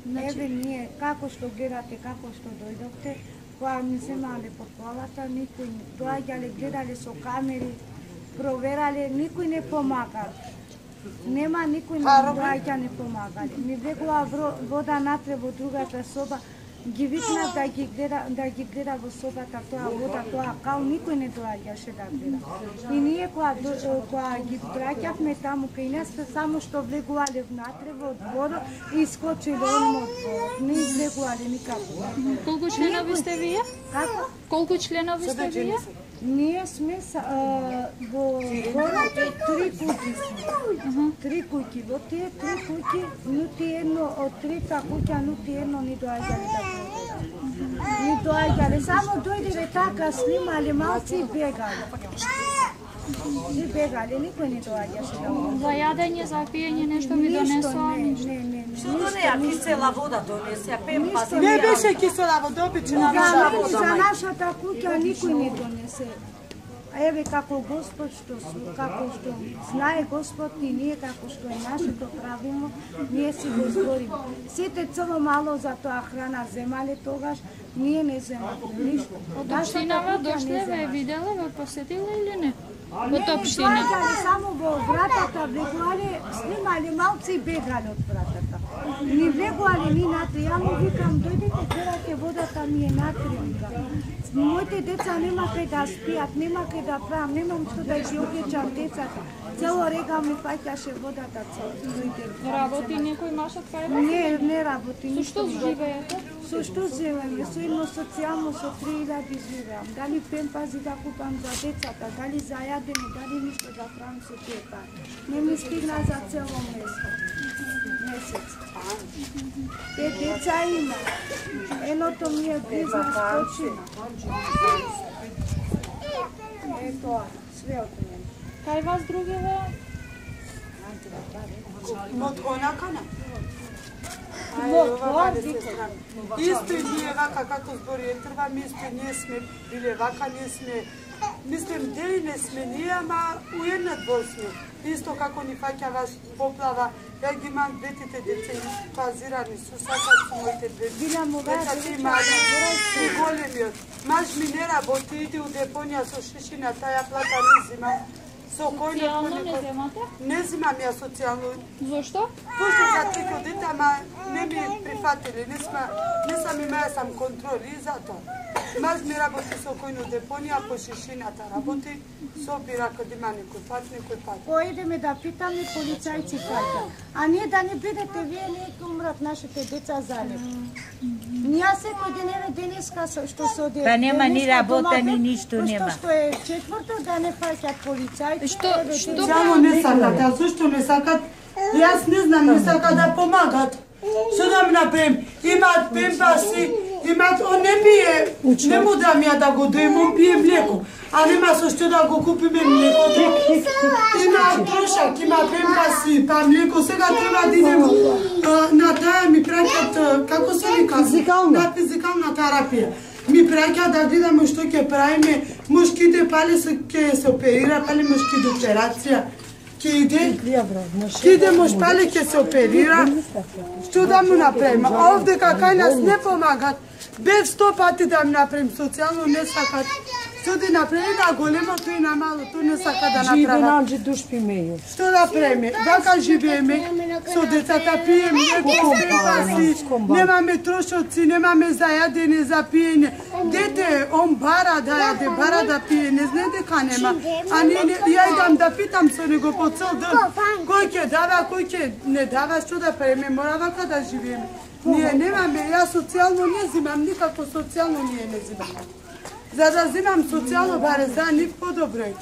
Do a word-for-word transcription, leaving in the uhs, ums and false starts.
Еве ние, како што гледате, како што дојдовте, кога ми земале по колата, никој не доаѓале, гледале со камери, проверале, никој не помага. Нема никој не доаѓа, не помагале. Ми влегува вода натре во другата соба, ги викна да ги гледа, да ги гледа во собата тоа вода, тоа кал, никој не доаѓаше да гледа. И ние кога, кога ги праќавме таму кај нас, само што влегувале внатре во дворот и искочиле онмо од дворот. Не излегувале никако. Колку членови сте вие? Како? Колку членови сте вие? Ние сме а, во дворот три куќи сме. Три куќи. Во тие три куќи, нути едно од трите куќа, нути едно ни доаѓале да проверат. Ни доаѓале, само дојделе така, снимале малци и бегале. И бегале, никој не доаѓаше да проверат. За јадење, за пиење нешто ви донесоа? Не, не, не. Што донеа кисела вода донесеа, пемпас? Не беше кисела вода, обична вода. За нашата куќа никој не донесе. А еве како Господ што како што знае Господ и ние како што е нашето правилно, ние си го збориме. Сите црво мало за тоа храна земале тогаш, ние не земавме ништо. Од општинава дошле, ве виделе, ве посетиле или не? Од општина? Доаѓале само во вратата, влегувале, снимале малци и бегале од вратата. Ни влегувале ни натре, ја му викам, дојдете, гледате водата ми е натре, викам. Моите деца нема кај да спијат, нема кај да правам, немам што да ги облечам децата. Цело рега ми паќаше водата цело. Работи некој машат кај вас? Не, не работи. Со што живеете? Со што живееме? Со едно социјално, со три илјади живеам. Дали пемпази да купам за децата, дали за јадење, дали ништо да правам со тие пари. Не ми стигна за цело месец. Пет деца има. Едното ми е бизнес почина. Е тоа, све од мене. Кај вас другиве? Од конакана? Во тоа Исто и ние вака како збори Ентрва, ми исто ние сме биле вака, ние сме, мислим, дели не сме ние, ама уеднат во сме. Исто како ни фаќа вас поплава, ја ги имам двете деца и пазирани, су сакат со моите две деца, ти мали, и големиот. Маж ми не работи, иди у депонија со шишина, таја плата не зимам. Социјално не земате? Не зимам ја социјално. Зошто? Пошто за трико дете, ама не ми прифатили, не сме, не сам имаја сам контроли и затоа. Маж ми работи со којно депонија, по шишината работи, собира кад има некој пат, некој пат. Поедеме да питаме полицајци кај. А ние да не бидете вие, не ќе умрат нашите деца залеп. Ние секој ден еве денеска што се оди. Па нема ни работа, ни ништо нема. Што е четврто да не фаќат полицајци. Што што Само не сакат, а зашто не сакат? Јас не знам, не сакат да помагат. Што да ми направим? Имаат пемпаси, имаат, он не пие, не му дам ја да го доим, он пие млеко. А нема со што да го купиме млекото. Има трошак, има пемпаси, па млеко, сега треба да идем на таа ми праќат, како се вика? На физикална терапија. Ми праќа да гледаме што ќе правиме, мушките пали се ќе се оперира, пали мушки до операција. Ќе иде, ќе иде муж пали ќе се оперира. Што да му направиме? А овде кај нас не помагат. Без сто пати да ми направим социјално, не сакат. Што да направи на големото и на малото, не сака да направат. Што да правиме? Вака живееме, со децата пиеме, некој пемпаси, немаме трошоци, немаме за јадење, за пиење. Дете, он бара да јаде, бара да пие, не знае дека нема. А не, не, ја идам да питам со него по цел ден, кој ќе дава, кој ќе не дава, што да правиме, мора вака да живееме. Ние немаме, ја социјално не зимам, никако социјално ние не зимаме. За да зимам социјално, баре за нив подобро е.